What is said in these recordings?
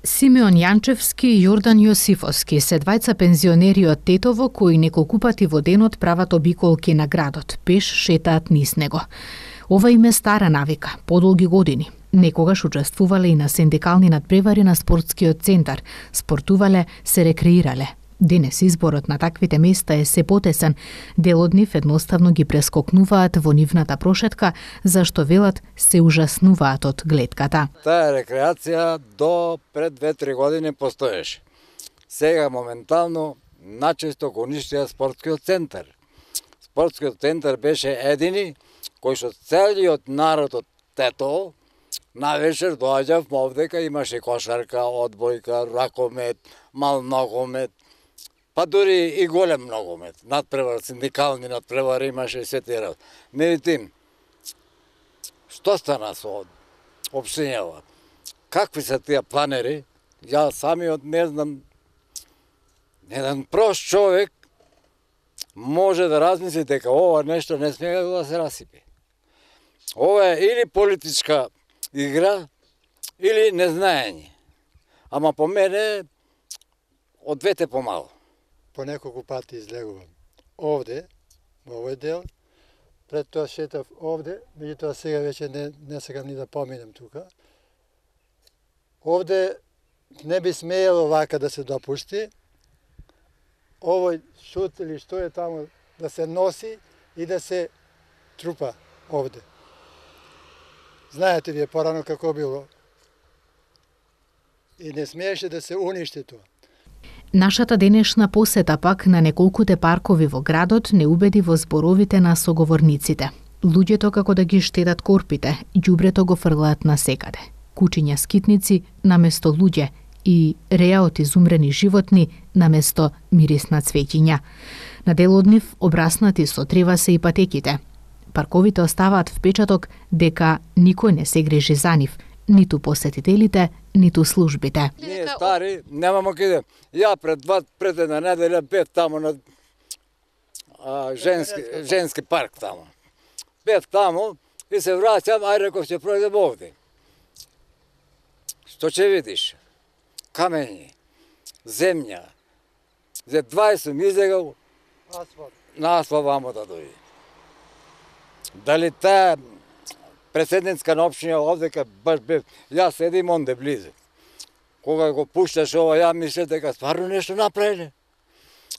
Симеон Јанчевски и Јордан Јосифовски се двајца пензионери од Тетово кои неколку пати во денот прават обиколки на градот, пеш шетаат низ него. Ова им е стара навика, подолги години. Некогаш учествувале и на синдикални надпревари на спортскиот центар, спортувале, се рекреирале. Денес изборот на таквите места е се потесен, дел од нив едноставно ги прескокнуваат во нивната прошетка, зашто велат се ужаснуваат од гледката. Таа рекреација до пред 2-3 години постоеше. Сега моментално начесто го уништија спортскиот центар. Спортскиот центар беше едини кој што целиот народ од Тетово на вечер доаѓав овдека, имаше кошарка, одбојка, ракомет, мал ногомет, па дури и голем ногомет, надпревар, синдикални надпревари имаше се тие работи. Меѓутоа, што стана со општинјава? Какви се тие планери? Ја самиот не знам. Еден прост човек може да размисли дека ова нешто не смее да се расипи. Ова е или политичка игра, или незнаење. Ама по мене, од двете помало. По неколку пати излегувам овде, во овој дел, пред тоа шетав овде, меѓутоа сега веќе не сакам ни да поминем тука. Овде не би смеело вака да се допусти, овој шут или што е таму да се носи и да се трупа овде. Знаете вие порано како било. И не смееше да се уништи тоа. Нашата денешна посета пак на неколкуте паркови во градот не убеди во зборовите на соговорниците. Луѓето како да ги штедат корпите, ѓубрето го фрлаат насекаде. Кучиња скитници наместо луѓе и реа од изумрени животни наместо мирис на цвеќиња. На дел од нив обраснати со трева се и патеките. Парковите оставаат впечаток дека никој не се грижи за нив, ниту посетителите, ниту службите. Ние стари немамо каде. Ја пред една неделја бев таму на женски парк таму. Бев таму и се враќам, ај реков ќе пројдем овде. Што ќе видиш? Камењи, земја. За 20 излегал на асфалт вамо да дојде. Дали таа председницка на општина овдека баш бев, јас седим онде близо. Кога го пушташ ова, ја мислев дека стварно нешто направиле.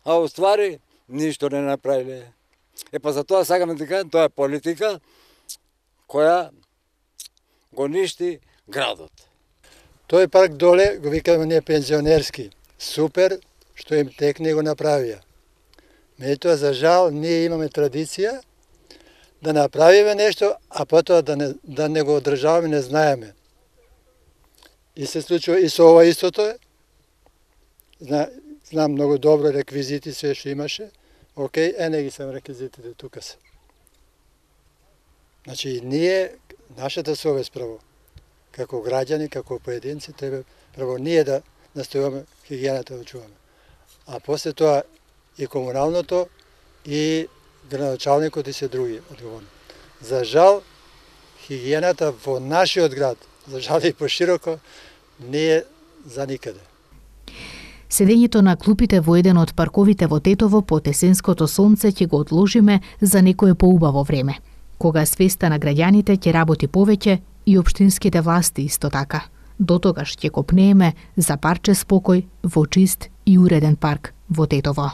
А уствари, ништо не направиле. Па за тоа сакам да кажам, тоа е политика која го ништи градот. Тој парк доле, го викаме ние пензионерски. Супер, што им текне го направија. Меѓутоа, за жал, ние имаме традиција да направиме нешто, а потоа да не го одржаваме, не знаеме. И се случува и со ова истото е. Знам многу добро реквизити, се што имаше. Океј, не ги сам реквизитите, тука се. Значи, ние, нашата совест право, како граѓани, како поединци, треба право ние да настојуваме хигиената да чуваме. А после тоа и комуналното, и градоначалникот и се други одговорни. За жал, хигиената во нашиот град, за жал и пошироко, не е за никаде. Седењето на клупите во еден од парковите во Тетово под есенското сонце ќе го одложиме за некое поубаво време, кога свеста на граѓаните ќе работи повеќе и општинските власти исто така. Дотогаш ќе копнееме за парче спокој во чист и уреден парк во Тетово.